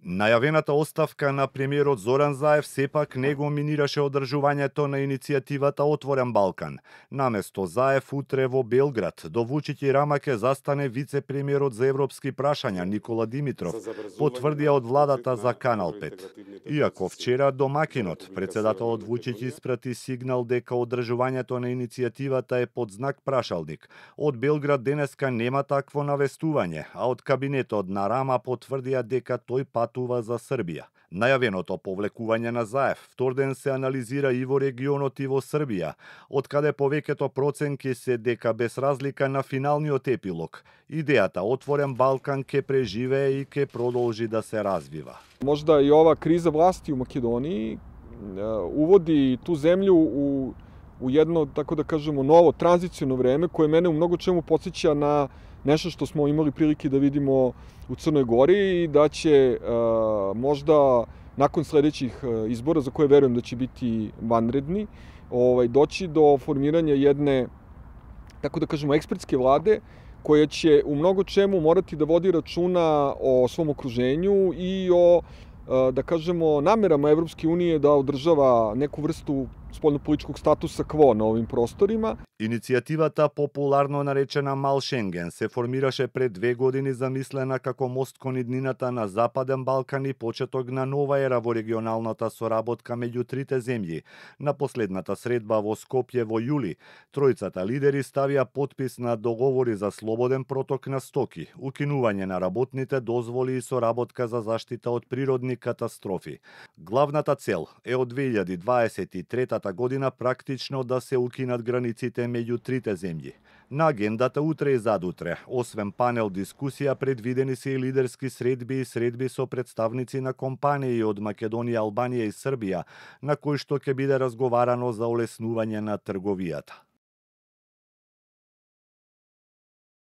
Најавената оставка на премиерот Зоран Заев сепак не го минираше одржувањето на иницијативата Отворен Балкан. Наместо Заев утре во Белград до Вучиќ и Рама ке застане вице-премиерот за европски прашања Никола Димитров, потврдија од владата за Канал 5. Иако вчера домакинот, председателот Вучиќ испрати сигнал дека одржувањето на иницијативата е под знак прашалник. Од Белград денеска нема такво навестување, а од кабинетот на Рама потврдија дека тој патува за Србија. Најавеното повлекување на Заев вторден се анализира и во регионот и во Србија, од каде повеќето проценки се дека без разлика на финалниот епилог, идејата Отворен Балкан ке преживее и ке продолжи да се развива. Можда и ова криза власти у Македонiji uvodi tu zemlju u jedno, tako da kažemo, novo tranziciono vreme koje mene u mnogo čemu podsjeća na nešto što smo imali prilike da vidimo u Crnoj Gori i da će možda nakon sledećih izbora, za koje verujem da će biti vanredni, doći do formiranja jedne, tako da kažemo, ekspertske vlade koja će u mnogo čemu morati da vodi računa o svom okruženju i o, da kažemo, namerama Evropske unije da održava neku vrstu spoljnopolitičkog statusa quo на овим просторima. Иницијативата, популарно наречена Мал Шенген, се формираше пред 2 години замислена како мост кон иднината на Западен Балкан и почеток на нова ера во регионалната соработка меѓу трите земји. На последната средба во Скопје во јули, тројцата лидери ставија подпис на договори за слободен проток на стоки, укинување на работните дозволи и соработка за заштита од природни катастрофи. Главната цел е од 2023 година практично да се укинат границите меѓу трите земји. На агендата утре и задутре, освен панел дискусија, предвидени се и лидерски средби и средби со представници на компании од Македонија, Албанија и Србија, на кои што ќе биде разговарано за олеснување на трговијата.